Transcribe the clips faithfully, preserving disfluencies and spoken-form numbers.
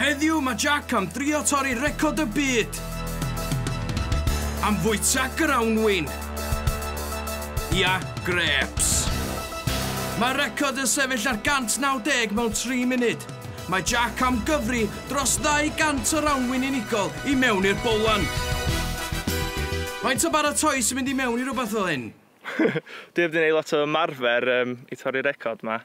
Heddiw mae Jack am drio torri record y byd. Am fwyta grawnwin. Ia, grapes. Mae'r record yn sefyll ar gant naw deg mewn tri munud. Mae Jack am gyfri dros ddau gant o rawnwin unigol i mewn i'r bowlan. Faint o baratoi sy'n mynd i mewn i rhywbeth fel hyn? Dwi heb 'di neud lot o ymarfer um, i torri'r record 'ma.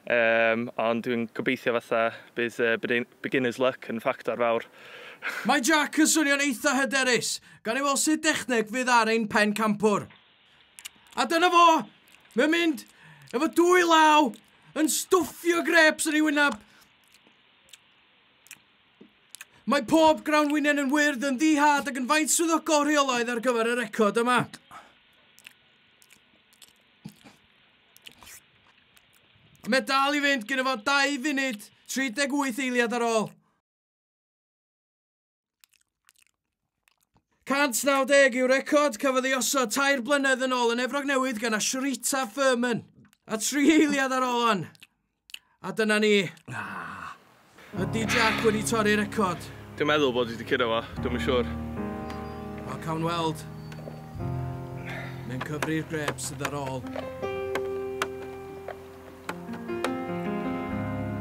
Um, ond dwi'n gobeithio fatha bydd uh, beginner's luck yn ffactor fawr. Mae Jack yn swnio'n eitha hyderus, gan i weld sut dechneg fydd ar ein pen campwr. A dyna fo! Mae'n mynd efo dwy law yn stwffio grapes yn ei wyneb. Mae pob grawnwinen yn wyrdd yn ddihad ac yn faint swyddogol rheolaidd ar gyfer y record yma. Mae dal i fynd gyda fo dau funud, tri deg wyth eiliad ar ôl. cant naw deg yw'r record, cafodd ei osod tair blynedd yn ôl yn Efrog Newydd gan Ashrita Furman. A tri eiliad ar ôl on. A dyna ni. Ydy Jack wedi torri'r record? Dwi'n meddwl bod wedi curo fo, dwi'm yn siŵr. Wel, cawn weld. Mae'n cyfri'r grapes sydd ar ôl.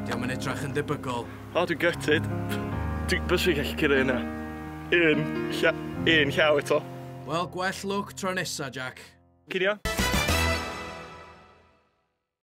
Dio'm yn edrach yn debygol. O, dwi'n gutted. Dwi'n byswn i'n gallu curo hynna. Un, lla, un llaw eto. Wel, gwell lwc tro nesa, Jack. Cinio?